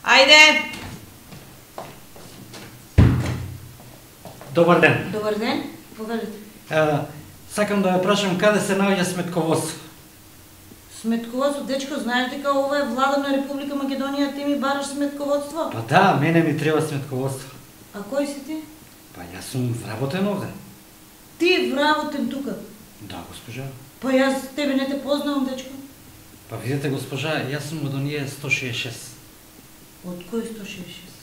Ајде! Добар ден. Добар ден, повелите. Сакам да ве прашам каде се наоѓа сметководство. Сметководство, дечко, знаеш дека ова е влада на Република Македонија, ти ми бараш сметководство? Па да, мене ми треба сметководство. А кој си ти? Па јас сум вработен овде. Ти вработен тука? Да, госпожа. Па јас тебе не те познавам, дечко. Па видите, госпожа, јас сум од оние 166. Од кој 166?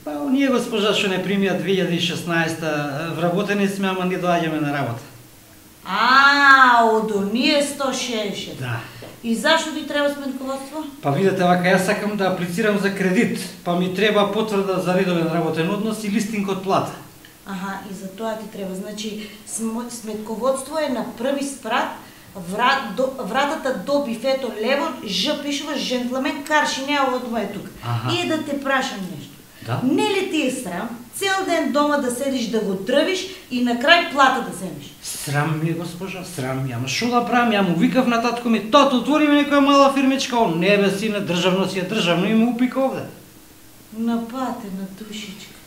Па оние, госпожа, што не примија 2016-та, вработени сме, ама не доаѓаме на работа. Од оние 160. Да. И зашто ти треба сметководство? Па видите, вака, јас сакам да аплицирам за кредит, па ми треба потврда за редовен работен однос и листинг од плата. Аха, и за тоа ти треба. Значи, сметководство е на први спрат, вратата до бифето лево, Ж пишува жентлемен Карши, не одма е тука. И да те прашам нешто. Да? Не ли ти е срам цел ден дома да седиш да го трвиш и на крај плата да земеш? Срам ми е, госпожа, срам ми. Ама шо да правам? Ја му викав на татко ми, тато, отвори ми некоја мала фирмичка, он не бе сине, државно си е државно и му упика овде. Напатена душичка.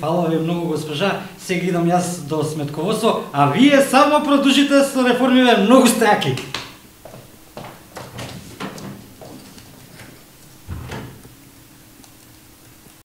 Фала ви многу, госпожа, сега идам јас до сметководство, а вие само продолжите со реформиве, многу сте јаки.